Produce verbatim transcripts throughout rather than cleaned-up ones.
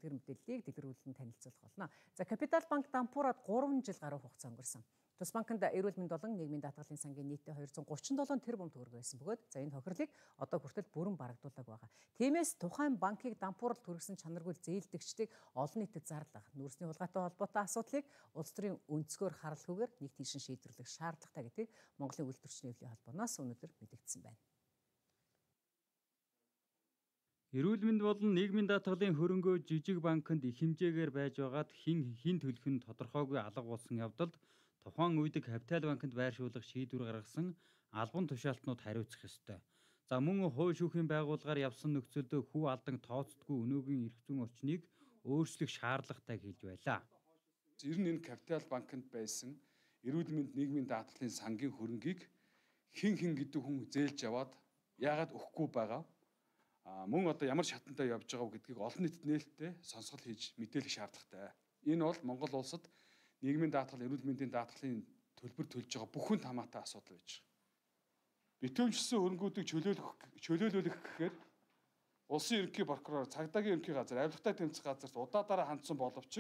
тэр мэдээллийг дэлгэрүүлэн танилцуулах болно. За Капитал банк дампуураад гурван жил гаруй хугацаа өнгөрсөн. Тус банкнд эрүүл мэнд болон нийгмийн даатгалын сангийн нийтдээ хоёр зуун гучин долоон тэрбум төгрөг байсан бөгөөд за энэ тохирлыг одоо хүртэл бүрэн барагдуулаг байгаа. Тиймээс тухайн банкыг дампуурал түргэсэн чанаргүй зээлдэгчдийг олон нийтэд зарлах, нүүрсний хулгайтай холбоотой асуудлыг улс төрийн өнцгөр харалгүйгээр нэг тийшин шийдвэрлэх шаардлагатай гэдгийг Монголын үйлдвэрчний эвлийн холбооноос өнөөдөр мэдэгдсэн байна. Эрүүл мэнд болон нийгмийн даатгалын хөрөнгөө жижиг банкнд их хэмжээгээр байж байгаад хин хин төлөх нь тодорхойгүй алга болсон явдалд тухайн үед Капитал банкнд байршуулах шийдвэр гаргасан албан тушаалтнууд хариуцах ёстой. За мөн хууль шүүхийн байгууллагаар явсан нөхцөлд хүү алдан тооцдгүй өнөөгийн эрх зүйн орчныг өөрчлөх шаардлагатай хэлж байлаа. Ер нь энэ Капитал банкнд байсан эрүүл мэнд нийгмийн даатгалын сангийн хөрөнгийг хин хин гэдэг хүн зээлж яваад яагаад өгөхгүй байгаа? А мөн одоо ямар шатантай явж байгааг гэдгийг олон нийтэд нээлттэй сонсгол хийж мэдээлэх шаардлагатай. Энэ бол Монгол улсад нийгмийн даатгал, эрүүл мэндийн даатгалын төлбөр төлж байгаа бүхэн хамаатай асуудал байж байгаа. Битүүмжсэн хөрөнгүүдийг чөлөөлөх чөлөөлүүлэх гэхээр улсын ерөнхий прокурор, цагдаагийн ерөнхий газар, авилгатай тэмцэх газарт удаадаараа хандсан боловч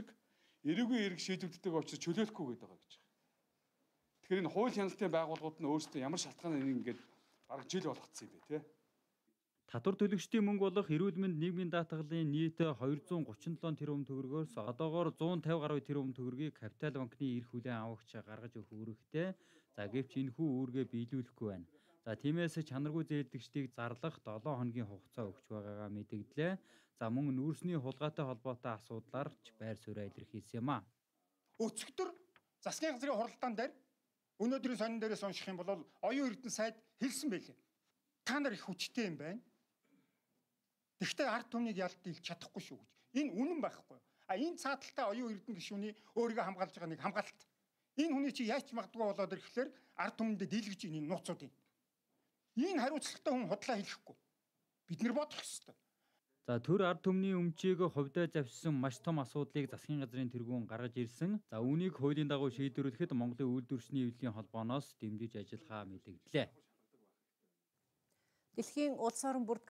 эрүүгийн эрг шийдвэрлэдэг учраас чөлөөлөхгүй гэдэг байгаа гэж байна. Тэгэхээр энэ хууль хяналтын байгууллагууд нь өөрсдөө ямар шалтгаанаар ингээд бараг жил болгоцсон юм бэ, тий? Татвар төлөгчдийн мөнгө болох эрүүл мэнд нийгмийн даатгалын нийт хоёр зуун гучин долоон тэрбум төгрөгөөс одоогоор зуун тавь гаруй тэрбум төгрөгийг Капитал банкны эрх хүлээн авагч гаргаж өгөх үүрэгтэй. За гэвч энэхүү үүргээ биелүүлэхгүй байна. За тиймээс чанаргүй зээлдэгчдийг зарлах долоон хоногийн хугацаа өгч байгаагаа мэдэгдлээ. За мөн нүүрсний хулгайтай холбоотой асуудлаар ч байр сууриа илэрхийлсэн юм а. Өцгтөр засгийн газрын хуралдаан дээр өнөөдрийн сонин дээрээс унших юм бол оюун эрдэнэ сайд хэлсэн байлээ. Та нар их хүчтэй юм байна. Тэгвэл ард түмнийг ялдуулж чадахгүй шүү гэж. Энэ үнэн байхгүй. А энэ цааталтай оюун эрдэнэ гишүүний өөрийгөө хамгаалж байгаа нэг хамгаалалт. Энэ хүний чи яаж магадгүй болоод ирэхлээр ард түмэндээ дийлгэж ийн энэ нууцуудын. Энэ хариуцлагатай хүн худлаа хэлэхгүй. Бид нэр бодох ёстой. За төр ард түмний өмчийг хувьдаа завьсан маш том асуудлыг засгийн газрын тэргүүн гаргаж ирсэн. За үүнийг хуулийн дагуу шийдвэрлэхэд Монголын үйлдвэрчний эвлийн холбооноос дэмжиж ажиллахаа мэдэгдлээ. Дэлхийн улс орон бүрд